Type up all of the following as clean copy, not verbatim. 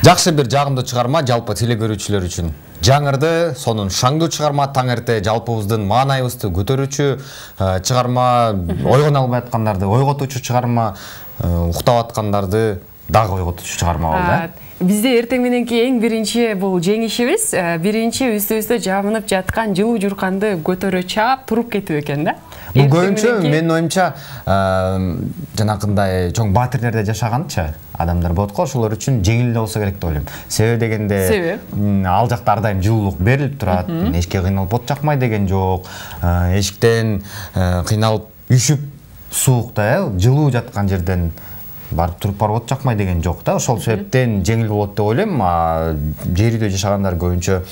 Жакшы бир жагымдуу чыгарма жалпы теле көрүүчүлөр үчүн. Жаңырды, сонун шаңдуу чыгарма, таң эрте жалпыбыздын маанайыбызды көтөрүүчү чыгарма, ойгоно албай аткандарды ойготуучу чыгарма, уктап аткандарды дагы ойготуучу чыгарма болду. Бизде эртең мененки эң биринчи бул жеңишибиз, биринчи үстүбүздө жабынып жаткан жылуу журканды көтөрө чаап туруп кетүү экен да. Бул көбүнчө менин оюмча жанакындай чоң батирлерде жашаганчы адамдар болот го, ошолор үчүн жеңил эле болсо керек деп ойлойм. Себеби дегенде ал жакта ар дайым жылуулук берилип турат, эшикке кыйналып от жакмай деген жок. Эшиктен кыйналып үшүп суукта, жылуу жаткан жерден барып туруп барып от жакмай деген жок да. Ошол себептен жеңил болот деп ойлойм. Жер үйдө жашагандар көбүнчө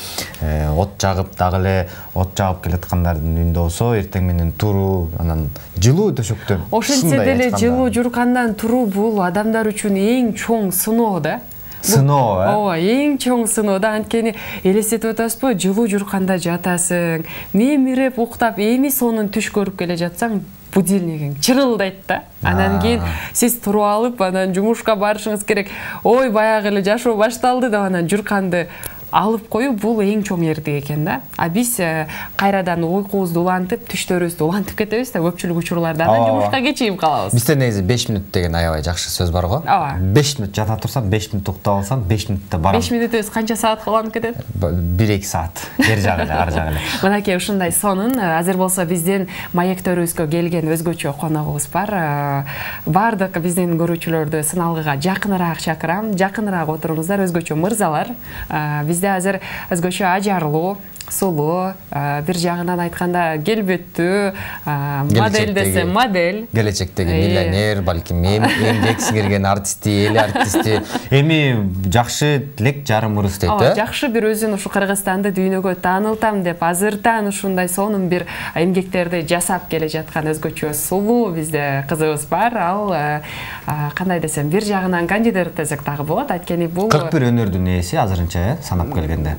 от жагып, дагы эле от жагып келаткандардын үйүндө болсо эртең менен туруу, анан жылуу төшөктөн. Ошентсе деле жылуу журкандан туруу бул адамдар үчүн эң чоң сыноо да. Сыноо, Ооба, эң чоң сыноо да. Анткени элестетип атасызбы, жылуу журканда жатасың, мемирип уктап, эми сонун түш көрүп келе жатсаң, будильнигиң чырылдайт да. Анан кийин сиз туруп алып, анан жумушка барышыңыз керек. Ой, баягы эле жашоо башталды деп анан журканды алып коюу бул эң чоң эрдик экен да. Биз кайрадан уйкубузду улантып, түштөрүбүздү улантып кетебиз да, көпчүлүк учурларда анан жумушка кечигип калабыз. Бизде негизи 5 мүнөт деген аябай жакшы сөз бар го. 5 мүнөт жата турсам, 5 мүнөт уктап алсам, 5 мүнөттө барам. 5 мүнөтүбүз канча саат уланып кетет? 1-2 саат. Бер жагы эле, ар жагы эле. Мынакей ушундай сонун. Азыр болсо биздин маектөрүбүзгө келген өзгөчө коногубуз бар. Бардык биздин көрүүчүлөрдү сыналгыга жакыныраак чакырам. Жакыныраак отуруңуздар, өзгөчө мырзалар. Бизде азыр өзгөчө ажарлуу, сулуу, бир жагынан айтканда келбеттүү, модель десе модель, келечектеги миллионер, балким эмгек сиңирген артисти, эл артисти, эми жакшы тилек жарым ырыс дейт да. Жакшы бир өзүн ушу Кыргызстанды дүйнөгө таанылтам деп азыртан ушундай сонун бир эмгектерди жасап келе жаткан өзгөчө сулуу бизде кызыбыз бар. Ал кандай десем, бир жагынан кандидат десек дагы болот. Анткени бул 41 өнөрдүн ээси азырынча, санап келгенде.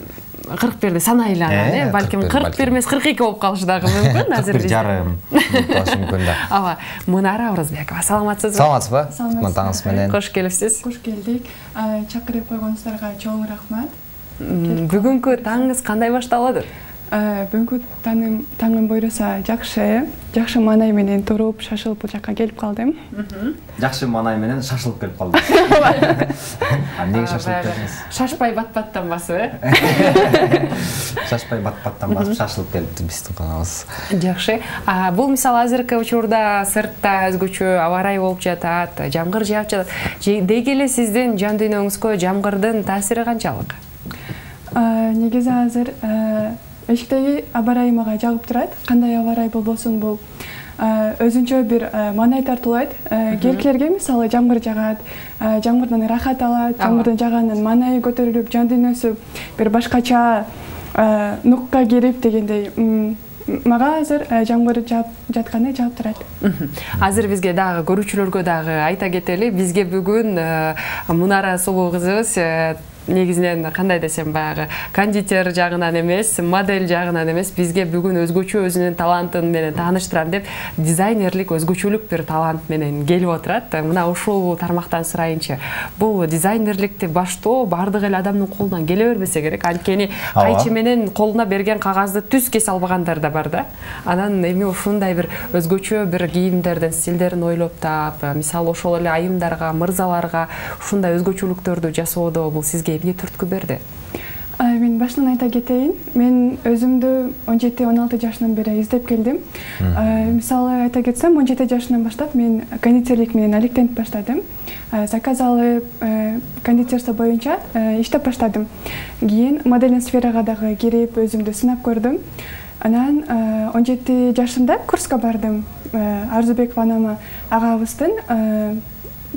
41 санайлы анан, балким 41 эмес 42 болуп калышы дагы мүмкүн. Азыр бир жарым болушу мүмкүн да. Ооба, Мунара Оразбекова, саламатсызбы? Саламатсызбы? Таңыңыз менен. Кош келипсиз. Кош келдик. Чакырып койгонуңуздарга чоң рахмат. Бүгүнкү таңыңыз кандай башталды? Бүгүнкү таңым буйруса жакшы маанай менен туруп, шашылып бул жакка келип калдым. Жакшы маанай менен шашылып келип калдым. Эмнеге шашылып келдиңиз? Шашпай бат-баттан басып, Шашпай бат-баттан басып шашылып келипти биздин коногубуз. Жакшы. Бул мисалы азыркы учурда сыртта өзгөчө аба ырайы болуп жатат, жамгыр жаап жатат. Деги эле сиздин жан дүйнөңүзгө жамгырдын таасири канчалык? Негизи азыр эшиктеги аба ырайы мага жагып турат. Кандай аба ырайы болбосун, бул өзүнчө бир маанай тартуулайт. Келкилерге мисалы жамгыр жагат, жамгырдан рахат алат, жамгырдын жаганынан маанайы көтөрүлүп, жан дүйнөсү бир башкача нукка кирип дегендей. Мага азыр жамгыр жаап жатканы жаап турат. Азыр бизге дагы көрүүчүлөргө дагы айта кетели, бизге бүгүн Мунара сулуу кызыбыз негизинен кандай десем, баягы кондитер жагынан эмес, модель жагынан эмес, бизге бүгүн өзгөчө өзүнүн талантын менен тааныштырам деп дизайнерлик өзгөчөлүк бир талант менен келип отурат. Мына ушул тармактан сурайынчы. Бул дизайнерликти баштоо бардык эле адамдын колунан келе бербесе керек. Анткени кайчы менен колуна берген кагазды түз кесе албагандар да бар да. Анан эми ушундай бир өзгөчө бир кийимдердин стилдерин ойлоп таап, мисалы ошол эле айымдарга, мырзаларга ушундай өзгөчөлүктөрдү жасоодо бул сизге эмне түрткү берди? Мен башынан айта кетейин. Мен өзүмдү 17-16 жашынан бери издеп келдим. Мисалы айта кетсем, 17 жашынан баштап мен кондитерлик менен алектенип баштадым. Заказ алып, кондитерство боюнча иштеп баштадым. Кийин модельдик сферага дагы кирип, өзүмдү сынап көрдүм. Анан 17 жашымда курска бардым. Арзубекова анама агабыздын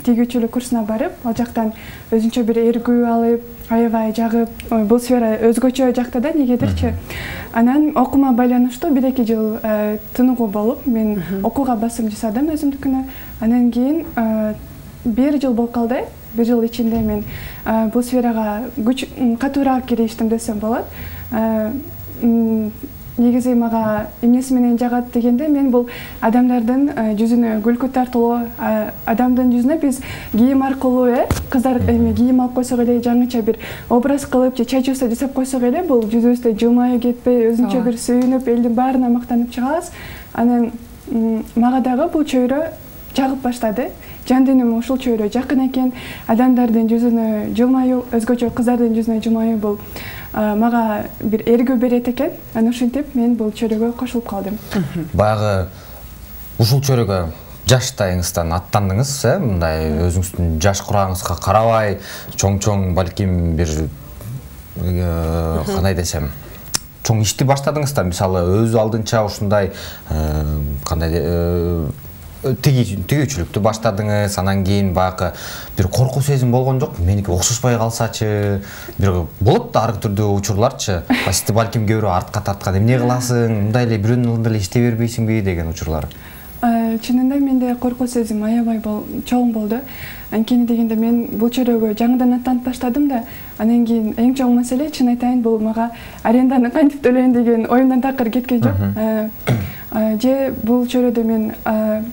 тигүүчүлүк курсуна барып, ал жактан өзүнчө бир эргүү алып, аябай жагып, бул сфера өзгөчө жакта да, негедирчи. Анан окуума байланыштуу 1-2 жыл тыныгуу болуп, мен окууга басым жасадым өзүмдүкүнө. Анан кийин 1 жыл болуп калды. 1 жыл ичинде мен бул сферага катуураак кириштим десем болот. негизи мага эмнеси менен жагат дегенде, мен бул адамдардын жүзүнө күлкү тартуулоо, адамдын жүзүнө биз кийим аркылуу кыздар эми кийим алып койсок эле, жаңыча бир образ кылып же чачыбызды жасап койсок эле, бул жүзүбүздө жылмайып кетпей, өзүнчө бир сүйүнүп, элдин баарына мактанып чыгабыз. Анан мага дагы бул чөйрө жагып баштады. Жан дүйнөмө ушул чөйрө жакын экен. Адамдардын жүзүнө жылмаюу, өзгөчө кыздардын жүзүнө жылмаюу бул мага бир эргүү берет экен. Анан ушинтип мен бул чөйрөгө кошулуп калдым. Баягы ушул чөйрөгө жаштайыңыздан аттандыңыз, мындай өзүңүздүн жаш курагыңызга карабай, чоң балким бир кандай десем, чоң ишти баштадыңыз да, мисалы өз алдынча ушундай кандай тигүүчүлүктү баштадыңыз, анан кийин баягы бир коркуу сезим болгон жок, меники окшошпой калсачы, бир болот да ар түрдүү учурларчы, сизди балким кээ бирөө артка тарткан, эмне кыласың, мындай эле бирөөнүн алдында эле иштей бербейсиңби деген учурлар. Чынында менде коркуу сезим аябай чоң болду. Анткени дегенде мен бул чөйрөгө жаңыдан аттанып баштадым да, анан кийин эң чоң маселе, чын айтайын, бул мага аренданы кантип төлөйүн деген оюмдан такыр кеткен жок. Же бул чөйрөдө мен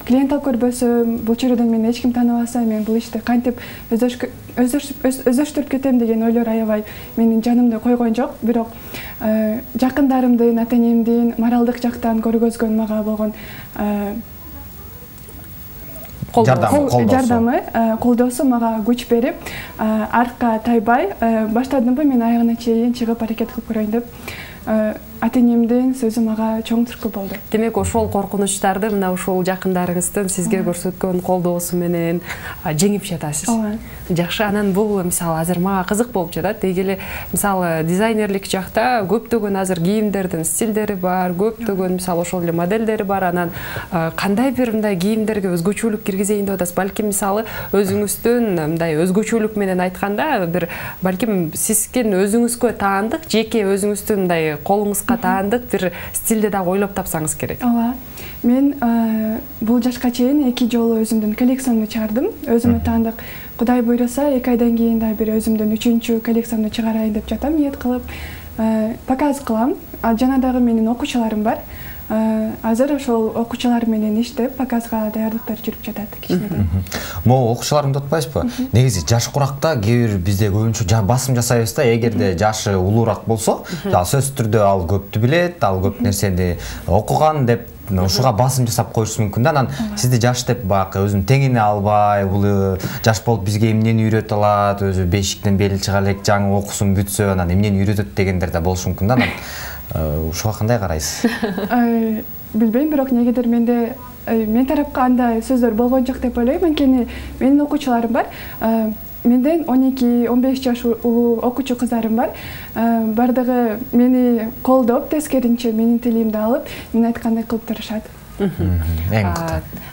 клиент алып көрбөсөм, бул чөйрөдөн мени эч ким тааныбаса, мен бул ишти кантип өздөштүрүп кетем деген ойлор аябай менин жанымды койгон жок. Бирок жакындарымдын, ата-энемдин моралдык жактан көргөзгөн мага болгон жардамы, колдоосу мага күч берип, артка тайбай, баштадымбы мен аягына чейин чыгып аракет кылып көрөйүн деп, ата-энемдин сөзү мага чоң түрткү болду. Демек, ошол коркунучтарды мына ушул жакындарыңыздын сизге көрсөткөн колдоосу менен жеңип жатасыз. Жакшы, анан бул мисалы азыр мага кызык болуп жатат. Деги эле мисалы дизайнерлик жакта көптөгөн азыр кийимдердин стилдери бар, көптөгөн мисалы ошол эле моделдери бар. Анан кандай бир мындай кийимдерге өзгөчөлүк киргизейин деп атасыз? Балким мисалы өзүңүздүн мындай өзгөчөлүк менен айтканда бир балким сизген өзүңүзгө таандык, жеке өзүңүздүн мындай колуңузга таандык бир стилди дагы ойлоп тапсаңыз керек. Ооба. Мен бул жашка чейин 2 жолу өзүмдүн коллекциямды чыгардым. Өзүмө таандык. Кудай буйруса 2 айдан кийин да бир өзүмдүн 3-чү коллекциямды чыгарайын деп жатам, ниет кылып. Показ кылам. Жана дагы менин окуучуларым бар. Азыр ошол окуучулар менен иштеп, показга даярдыктар жүрүп жатат кичинекей. Могу окуучуларымды утпайсызбы? Негизи жаш куракта кээ бир бизде көбүнчө басым жасайбыз да, эгерде жашы улуураак болсо, сөзсүз түрдө ал көптү билет, ал көп нерсени окуган деп ушуга басым жасап коюшу мүмкүн да. Анан сизди жаш деп баягы өзүн теңине албай, бул жаш болуп бизге эмнени үйрөтө алат, өзү бешиктен бели чыга элек, жаңы окусун бүтсө, анан эмнени үйрөтөт дегендер да болушу мүмкүн да. Ушуга кандай карайсыз? Билбейм, бирок негедир менде мен тарапка андай сөздөр болгон жок деп ойлойм. Анткени менин окуучуларым бар. Менден 12-15 жаш улуу окуучу кыздарым бар. Бардыгы мени колдоп, тескеринче менин тилимди алып, мен айткандай кылып турушат.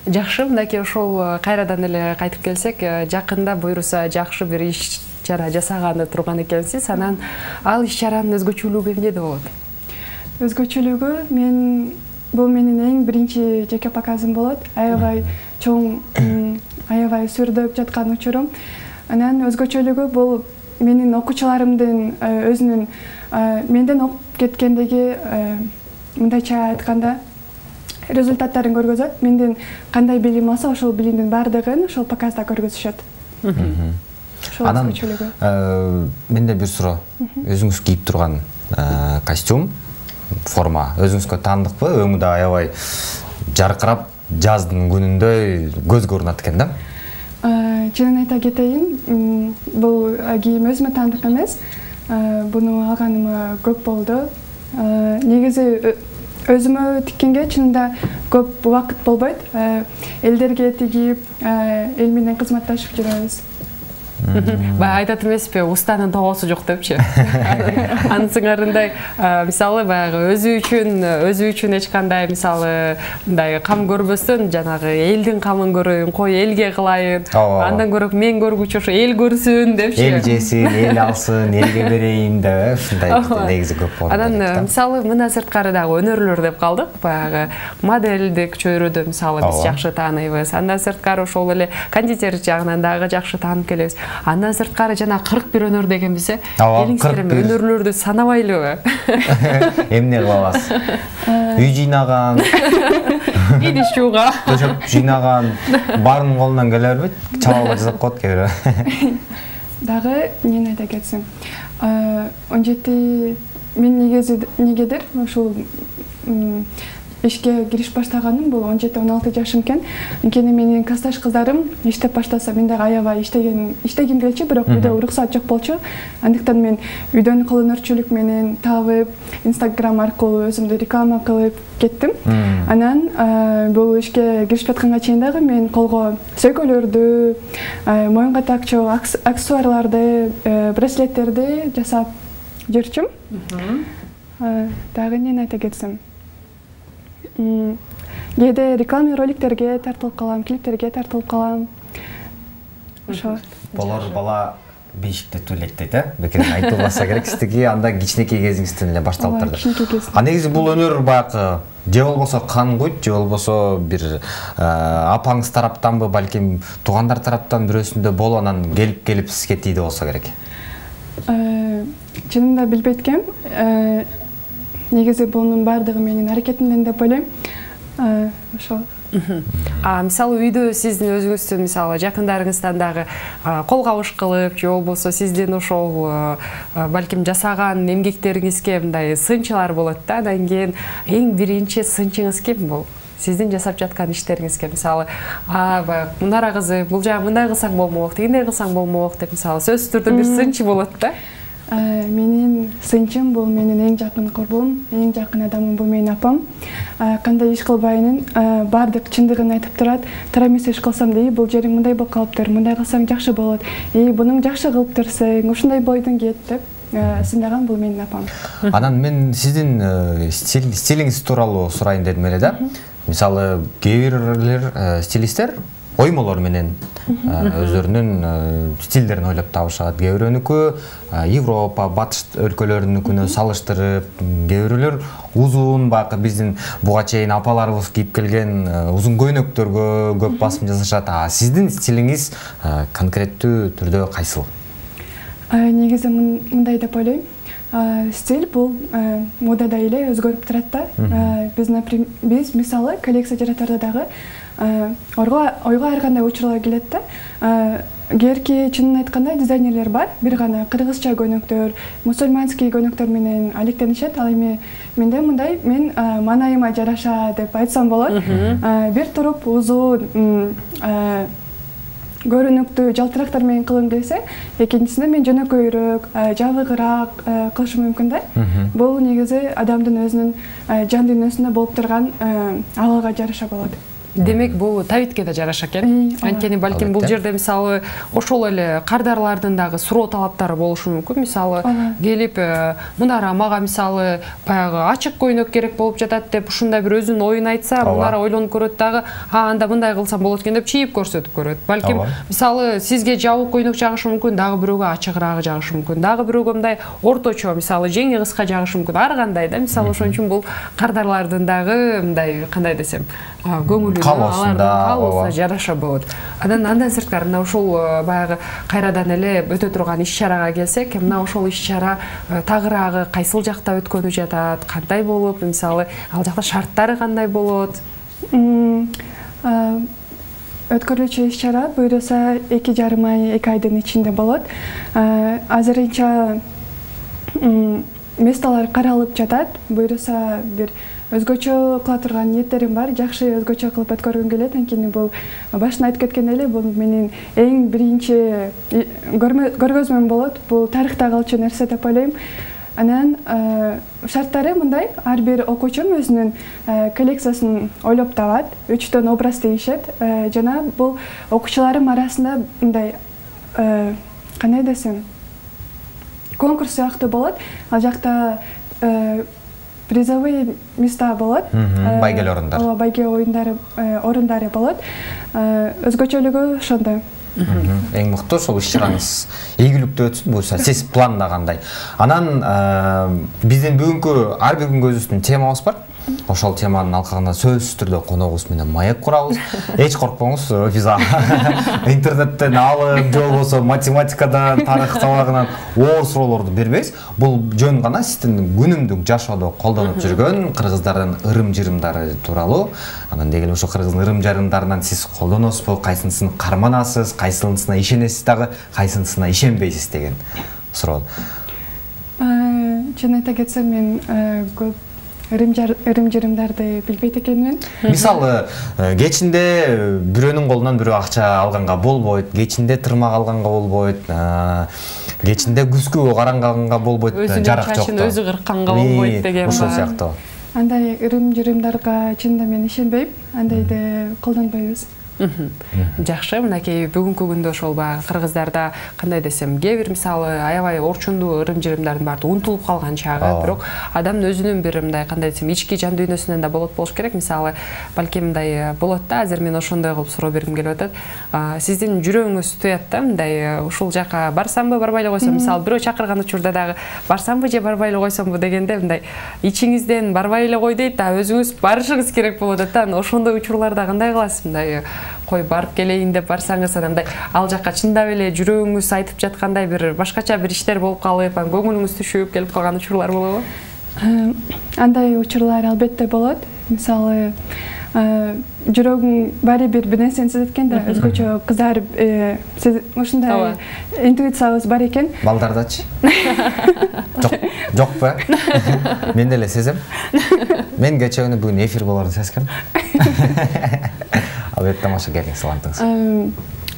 Жакшы, мынакей ошол кайрадан эле кайтып келсек, жакында буйруса жакшы бир иш чара жасаганы турган экенсиз. Анан ал иш чаранын өзгөчөлүгү эмнеде болот? Өзгөчөлүгү бул менин эң биринчи жеке показым болот. Аябай чоң, аябай сүрдөп жаткан учурум. Анан өзгөчөлүгү бул менин окуучуларымдын өзүнүн менден окуп кеткендеги, мындайча айтканда, результаттарын көргөзөт. Менден кандай билим алса, ошол билимдин баардыгын ошол показда көргөзүшөт. Анан менде бир суроо. Өзүңүз кийип турган костюм, форма өзүңүзгө таандыкпы? Өңү да аябай жаркырап, жаздын күнүндөй көзгө урунат экен да. Чынын айта кетейин, бул кийим өзүмө таандык эмес. Буну алганыма көп болду. Негизи өзүмө тиккенге чынында көп убакыт болбойт. Элдерге тигип, эл менен кызматташып жүрөбүз. Баягы айтат эмеспи, устанын тоосу жок депчи. Анын сыңарындай, мисалы баягы өзү үчүн эч кандай мисалы мындай кам көрбөстөн, жанагы элдин камын көрөйүн, кой элге кылайын, андан көрөк мен көргүчү ошо эл көрсүн депчи. Эл жесин, эл алсын, элге берейин деп, ушундай негизи көп болот. Анан мисалы мына сырткары дагы өнөрлөр деп калдык, баягы модельдик чөйрөдө мисалы биз жакшы тааныйбыз. Андан сырткары ошол эле кондитер жагынан дагы жакшы таанып келебиз. Андан сырткары жана 41 өнөр дегенбиз, Элиңиздер өнөрлөрдү санабайлыбы? Эмне кылабыз? Үй жыйнаган, идиш жууга, төшөп жыйнаган, баарынын колунан келе бербейт, чабалга жасап коет кээ бирөө. Дагы эмне айта кетсем, 17 мен негедир ушул ишке кириш баштаганым бул 17-16 жашым экен. Анткени менин классташ кыздарым иштеп баштаса, мен дагы аябай иштегим келчү, бирок үйдө уруксат жок болчу. Андыктан мен үйдөн кол өнөрчүлүк менен табып, Instagram аркылуу өзүмдү реклама кылып кеттим. Анан бул ишке кирип жатканга чейин дагы мен колго сөйкөлөрдү, моюнга такчу аксессуарларды, браслеттерди жасап жүрчүм. Дагы эмне айта кетсем, кээде реклама роликтерге тартылып калам, клиптерге тартылып калам. Ошо. Болор бала бешикте түлектейт, бекер айтылбаса керек, сиздики анда кичинекей кезиңизден эле башталып турду. Негизи бул өнөр баягы же болбосо кан куйт, же болбосо бир апаңыз тараптанбы, балким туугандар тараптан бирөөсүндө болуп анан келип сизге тийди болсо керек. Чынында билбейт экем. Негизи бунун баардыгы менин аракетимден деп ойлойм. Ошо. Мисалы үйдө сиздин өзүңүздүн мисалы жакындарыңыздан дагы кол кабыш кылып, же болбосо сиздин ошол балким жасаган эмгектериңизге мындай сынчылар болот да. Андан кийин эң биринчи сынчыңыз ким бул? Сиздин жасап жаткан иштериңизге мисалы, баягы Мунара кызы, бул жагы мындай кылсаң болмок, тигиндей кылсаң болмок деп мисалы сөзсүз түрдө бир сынчы болот да. Менин сынчым бул менин эң жакын курбум, эң жакын адамым бул менин апам. Кандай иш кылбайынын баардык чындыгын айтып турат. Туура эмес иш кылсам дей, бул жериң мындай болуп калыптыр, мындай кылсаң жакшы болот. Бунун жакшы кылыптырсың, ушундай бойдун кет деп сындаган бул менин апам. Анан мен сиздин стилиңиз тууралуу сурайын дедим эле да. Мисалы, кээ бирлер стилисттер оймолор менен өздөрүнүн стилдерин ойлоп табышат. Кээ бирөөнүкү Европа, батыш өлкөлөрүнүкүнө салыштырып, кээ бирөөлөр узун баягы биздин буга чейин апаларыбыз кийип келген узун көйнөктөргө көп басым жасашат. Сиздин стилиңиз конкреттүү түрдө кайсыл? Негизи мындай деп ойлойм. Стиль бул модада эле өзгөрүп турат да. Биз мисалы коллекция жаратарда дагы ойго ар кандай учурлар келет да. Кээрки чынын айтканда дизайнерлер бар, бир гана кыргызча көйнөктөр, мусульманский көйнөктөр менен алектенишет. Ал эми менде мындай, мен манайыма жараша деп айтсам болот. Бир туруп узун көрүнүктүү жалтырактар менен кылгым келсе, экинчисинде мен жөнөкөйрөөк, жабыгыраак кылышым мүмкүн да. Бул негизи адамдын өзүнүн жан дүйнөсүндө болуп турган абалга жараша болот. Демек бул табитке да жараша экен. Анткени балким бул жерде мисалы ошол эле кардарлардын дагы суроо талаптары болушу мүмкүн. Мисалы келип Мунара мага мисалы баягы ачык көйнөк керек болуп жатат деп ушундай бир өзүнүн оюн айтса, Мунара ойлонуп көрөт дагы, анда мындай кылсам болот экен деп чийип көрсөтүп көрөт. Балким мисалы сизге жабык көйнөк жагышы мүмкүн, дагы бирөөгө ачыгыраагы жагышы мүмкүн, дагы бирөөгө мындай орточо мисалы жеңи кыска жагышы мүмкүн. Ар кандай да. Мисалы ошон үчүн бул кардарлардын дагы мындай кандай десем, көңүлү калса жараша болот. Андан сырткары мына ушул баягы кайрадан эле өтө турган иш-чарага келсек, мына ошол иш-чара тагыраагы кайсыл жакта өткөнү жатат, кандай болуп, мисалы ал жакта шарттары кандай болот? Өткөрүлчү иш-чара буйруса 2,5 ай, 2 айдын ичинде болот. Азырынча месталар каралып жатат. Буйруса бир өзгөчө кыла турган ниеттерим бар, жакшы өзгөчө кылып өткөргүм келет. Анткени бул башында айтып кеткен эле, бул менин эң биринчи көргөзмөм болот. Бул тарыхта калчу нерсе деп ойлойм. Анан шарттары мындай: ар бир окуучум өзүнүн коллекциясын ойлоп табат, 3 образ тийишет. Жана бул окуучуларым арасында мындай кандай десем, конкурс сыяктуу болот. Ал жакта призовые места болот. Байгел орундар. Ооба, байге орундары болот. Өзгөчөлүгү ошондой. Эң мыкты ошол иш-чараңыз ийгиликтүү өтсүн, буюрса сиз пландагандай. Анан биздин бүгүнкү ар бир күнгө өзүбүздүн темабыз бар. ошол теманын алкагына сөзсүз түрдө коногубуз менен маек курабыз. Эч коркпоңуз, биз интернеттен алып, же болбосо математикадан, тарых сабагынан оор суроолорду бербейбиз. Бул жөн гана сиздин күнүмдүк жашоодо колдонуп жүргөн кыргыздардын ырым-жырымдары тууралуу. Анан деги эле ошо кыргыздын ырым-жырымдарынан сиз колдоносузбу, кайсынысын карманасыз, кайсынысына ишенесиз дагы, кайсынысына ишенбейсиз деген суроо. Чын айта кетсем, мен көп ырым-жырымдарды билбейт экенмин. Мисалы, кечинде бирөөнүн колунан бирөө акча алганга болбойт, кечинде тырмак алганга болбойт, кечинде күзгү каранганга болбойт, жарак жок. Өзүнүн чачын өзү кыркканга болбойт деген. Ошол сыяктуу. Андай ырым-жырымдарга чынында мен ишенбейм, андайды колдонбойбуз. Жакшы, мынакей бүгүнкү күндө ошол баягы кыргыздарда кандай десем, кээ бир мисалы аябай орчундуу ырым-жырымдардын баары унутулуп калган чагы, бирок адамдын өзүнүн бир мындай кандай десем, ички жан дүйнөсүнөн да болуш керек. Мисалы, балким мындай болот да, азыр мен ошондой кылып суроо бергим келип атат. Сиздин жүрөгүңүз туят да, мындай ушул жака барсамбы, барбай эле койсом, мисалы, бирөө чакырган учурда дагы барсамбы же барбай эле койсомбу дегенде мындай ичиңизден барбай эле кой дейт, өзүңүз барышыңыз керек болот атат. Ошондой учурларда кандай кыласыз? Мындай кой барып келейин деп барсаңыз, андай ал жакка чындап эле жүрөгүңүз айтып жаткандай бир башкача бир иштер болуп калып, көңүлүңүз түшүп келип калган учурлар болобу? Андай учурлар албетте болот. Мисалы, жүрөгүң баары бир нерсени сезет да, өзгөчө кыздар сиз ушундай интуициябыз бар экен. Балдардачы? Жокпу? Мен деле сезем. Мен кече күнү бүгүн эфир болорун сезгем. Албетте тамаша келиңиз, саламатыңыз.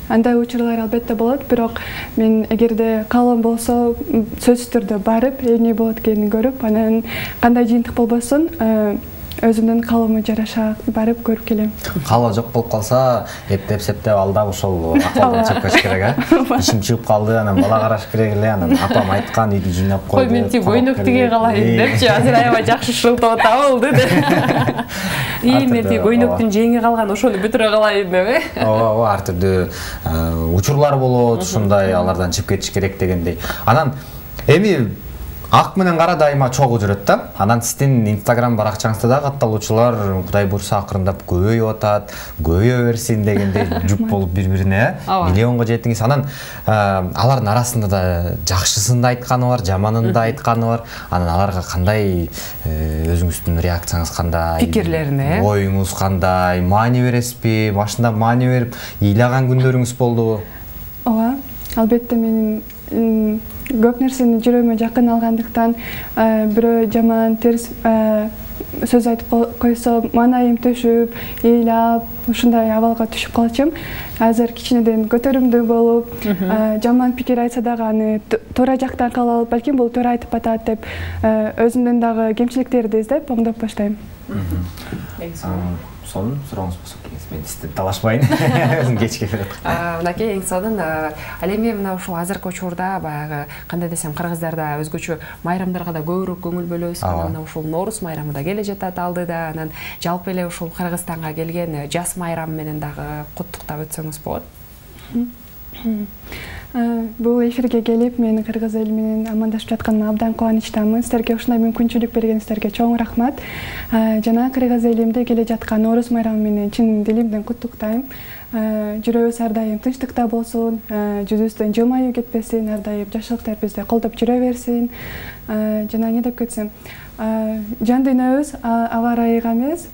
Андай учурлар албетте болот, бирок мен эгерде каалоом болсо сөзсүз түрдө барып, эмне болот экенин көрүп, анан кандай жыйынтык болбосун, өзүмдүн каалоомо жараша барып көрүп келем. Каалоо жок болуп калса, эптеп-септеп алдап ошол акылдан чыкпаш керек, ишим чыгып калды, анан бала караш керек эле, анан апам айткан үйдү жыйнап койду. Кой, мен тип ойноп тиге калайын депчи, азыр аябай жакшы шылтап табылды деп. Мен тип ойноктун жеңи калган, ошону бүтүрө калайын деп. Ооба, ар түрдүү учурлар болот, ушундай алардан чыгып кетиш керек дегендей. Анан эми ак менен кара дайыма чогуу жүрөт да. Анан сиздин Instagram баракчаңызда да катталуучулар Кудай буйрса акырындап көбөйүп атат, көбөйө берсин дегендей жуп болуп бири-бирине миллионго жетиңиз. Анан алардын арасында да жакшысын да айтканы бар, жаманын да айтканы бар. Анан аларга кандай өзүңүздүн реакцияңыз кандай? Пикирлерине? Оюңуз кандай? Маани бересизби? Башында маани берип ыйлаган күндөрүңүз болдубу? Ооба, албетте менин көп нерсени жүрөгүмө жакын алгандыктан бирөө жаман терс сөз айтып койсо маанайым төшүп, ыйлап, ушундай абалга түшүп калчумун. Азыр кичинеден көтөрүмдүү болуп, жаман пикир айтса дагы аны туура жактан кабыл алып, балким бул туура айтып атат деп, өзүмдүн дагы кемчиликтерди издеп, оңдоп баштайм. Сонун сурооңуз болсо келиңиз, мен сизден талашпайын. Өзүм кечке келет. Мынакей эң сонун, ал эми мына ушул азыркы учурда баягы кандай десем, кыргыздарда өзгөчө майрамдарга да көбүрөөк көңүл бөлөбүз. Анан ушул Нооруз майрамы да келе жатат алдыда. Анан жалпы эле ушул Кыргызстанга келген жаз майрамы менен дагы куттуктап өтсөңүз болот. Бул эфирге келип, мен кыргыз эли менен амандашып жатканыма абдан кубанычтамын. Силерге ушундай мүмкүнчүлүк бергениңиздерге чоң рахмат. Жана кыргыз элимде келе жаткан Нооруз майрамы менен чын дилимден куттуктайм. Жүрөгүбүз ар дайым тынчтыкта болсун, жүзүбүздөн жылмаюу кетпесин, ар дайым жакшылыктар бизди колдоп жүрө берсин. Жана эмне деп кетсем, жан дүйнөбүз аба ырайыга эмес,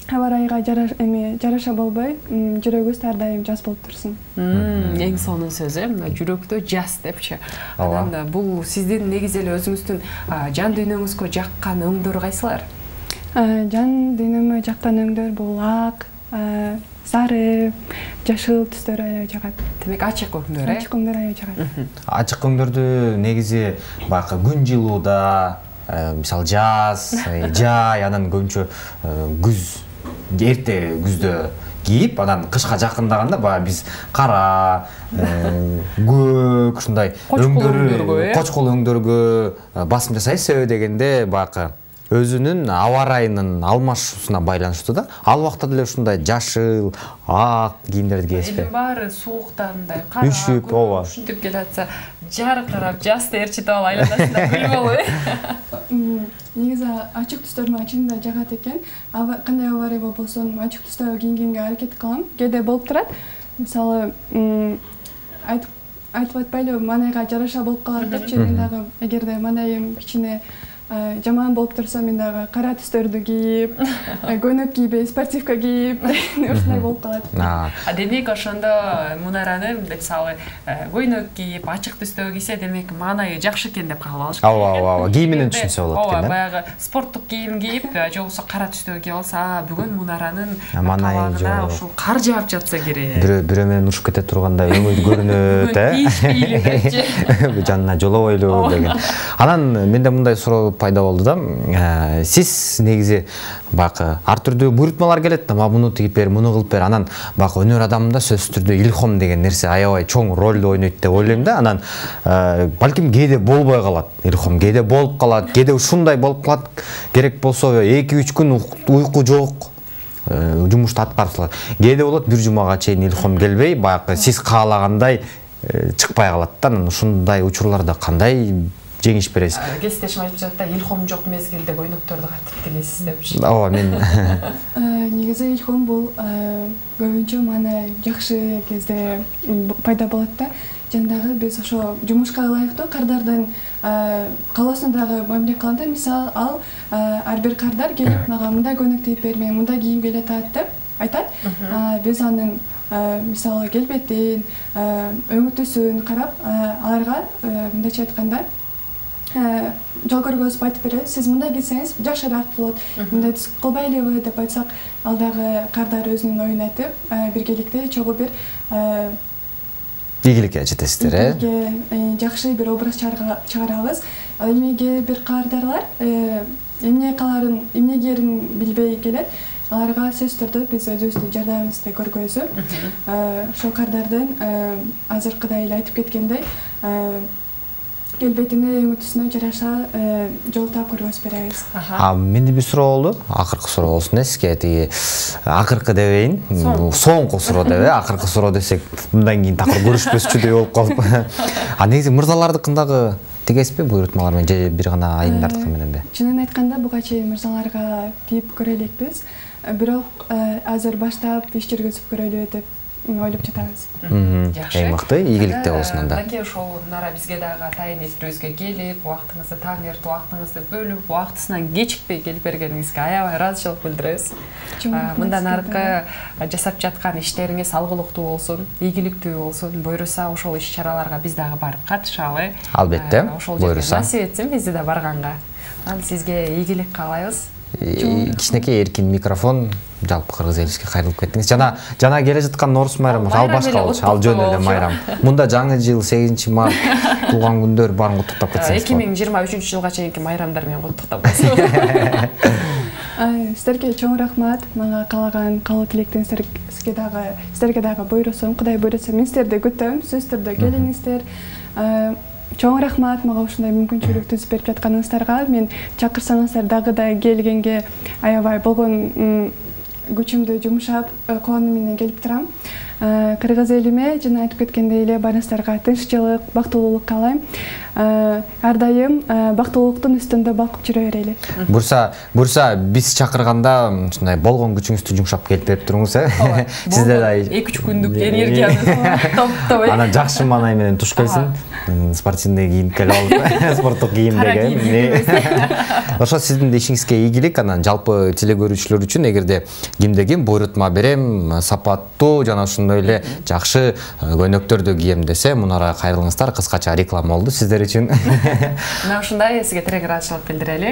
аба ырайыга жараша болбой, жүрөгүбүз ар дайым жаз болуп турсун. Эң сонун сөз, жүрөктө жаз депчи. Анан бул сиздин негизи эле өзүңүздүн жан дүйнөңүзгө жаккан өңдөр кайсылар? Жан дүйнөмө жаккан өңдөр бул ак, сары, жашыл түстөр аябай жагат. Демек ачык өңдөр, Ачык өңдөр аябай жагат. Ачык өңдөрдү негизи баягы күн жылууда, мисалы жаз, жай, анан көбүнчө күз, эрте күздө кийип, анан кышка жакындаганда баягы биз кара, көк, ушундай өңдөргө, кочкол өңдөргө басым жасайбыз. Себеби дегенде баягы өзүнүн аба ырайынын алмашуусуна байланыштуу да. Ал убакта деле ушундай жашыл, ак кийимдерди кийесизби? Эми баары сууктан мындай кара, ооба, ушинтип келатса, жаркырап, жаз терчитип алып айланасында гүл болуп. негизи ачык түстөрдү чынында жагат экен. Кандай авария болбосун ачык түстө кийингенге аракет кылам. Кээде болуп турат. Мисалы айтып атпайлы манайга жараша болуп калат депчи. Мен дагы эгерде манайым кичине жаман болуп турса, мен дагы кара түстөрдү кийип, көйнөк кийбей, спортивка кийип, ушундай болуп калат. Демек ошондо Мунаранын мисалы көйнөк кийип, ачык түстөгү кийсе, демек маанайы жакшы экен деп кабыл алыш керек. Ооба, кийиминен түшүнсө болот экен да. Баягы спорттук кийим кийип, же болбосо кара түстөгү кийип алса, бүгүн Мунаранын маанайы жок. Ушул кар жаап жатса керек. Бирөө менен урушуп кете турганда өңү көрүнөт, Тийишпейли депчи. Жанына жолобойлу деген. Анан менде мындай суроо пайда болду да. Сиз негизи бакы ар түрдүү буйрутмалар келет, муну тигип бер, муну кылып бер. Анан бакы өнөр адамында сөзсүз түрдүү илхом деген нерсе аябай чоң ролду ойнойт деп ойлойм да. Анан балким кээде болбой калат. Илхом кээде болуп калат, кээде ушундай болуп калат. Керек болсо 2-3 күн уйку жок. Жумушту аткарсалат. Кээде болот бир жумага чейин илхом келбей, бакы сиз каалагандай чыкпай калат да. Анан ушундай учурларда кандай жеңиш бересиз? Кесиптешим айтып жатат да, илхом жок мезгилде көйнөктөрдү кантип тигесиз депчи. Ооба, мен негизи илхом бул көбүнчө маанай жакшы кезде пайда болот да. Жандагы биз ошо жумушка ылайыктуу кардардын калоосуна дагы мамиле кылганда, мисалы ал ар бир кардар келип мага мындай көйнөк тигип бер, мен мындай кийим келет деп айтат. Биз анын мисалы келбетин, өңү түсүн карап, аларга мындайча айтканда жол көргөзүп айтып беребиз. Сиз мындай кийсеңиз жакшыраак болот. Мындай түс кылбайлыбы деп айтсак, ал дагы кардар өзүнүн оюн айтып, биргеликте чогуу бир ийгиликке жетесиздер, жакшы бир образ чыгарабыз. Ал эмнеге бир кардарлар эмне каларын, эмне кийерин билбей келет. Аларга сөзсүз түрдө биз өзүбүздүн жардамыбызды көргөзүп, ошол кардардын азыркыдай эле айтып кеткендей келбетине, өңү түсүнө жараша жол таап көргөзүп беребиз. Менде бир суроо болду. Акыркы суроо болсун сизге. Тиги акыркы дебейин, соңку суроо деп, акыркы суроо десек, мындан кийин такыр көрүшпөсчүдөй болуп калып. Негизи мырзалардыкын дагы тигесизби буйрутмалар менен же бир гана айымдардыкы мененби? Чынын айтканда буга чейин мырзаларга тип көрө элекпиз. Бирок азыр баштап иш жүргүзүп көрөлү деп ойлоп жатабыз. Жакшы. Эң мыкты ийгиликте болсун анда. Анан ошол Нара бизге дагы атайын эфирибизге келип, убактыңызды таң эртип, убактыңызды бөлүп, убактысынан кечикпей келип бергениңизге аябай ыраазычылык билдиребиз. Мындан аркы жасап жаткан иштериңиз алгылыктуу болсун, ийгиликтүү болсун, буйруса ошол иш-чараларга биз дагы барып катышалы. Албетте. Ошол жерге насип этсин бизди да барганга. Анан сизге ийгилик каалайбыз. Кичинекей эркин микрофон жалпы кыргыз элибизге кайрылып кеттиңиз. Жана келе жаткан Орус майрамы ал башка болчу, ал жөн эле майрам. Мында жаңы жыл 8-март туулган күндөр баарын куттуктап кетсеңиз. 2023-жылга чейинки майрамдар менен куттуктап койсуң. Сиздерге чоң рахмат. Мага каалаган каалоо тилектериңизге дагы буйрусун, Кудай буйруса мен сиздерди күтөм. Сөзсүз түрдө келиңиздер. Чоң рахмат мага ушундай мүмкүнчүлүк түзүп берип жатканыңыздарга. Мен чакырсаңыздар дагы да келгенге аябай болгон күчүмдү жумшап, кубануу менен келип турам. Кыргыз элиме жана айтып кеткендей эле барыңыздарга тынччылык, бактылуулук каалайм. Ар дайым бактылуулуктун үстүндө балкып жүрө берели. Бурса биз чакырганда ушундай болгон күчүңүздү жумшап келип берип туруңуз, Сизде да 2-3 күндүк энергияны топтоп. Анан жакшы маанай менен туш келсин. Спортивный кийим келип алып, спорттук кийимдеги. Ошо сиздин ишиңизге ийгилик. Анан жалпы теле көрүүчүлөр үчүн эгерде кимде ким буйрутма берем, сапаттуу жана ошондой эле жакшы көйнөктөрдү кийем десе, Мунарага кайрылыңыздар. Кыскача реклама болду сиздер үчүн. Мына ушундай сизге тирек ыраазычылык билдирели.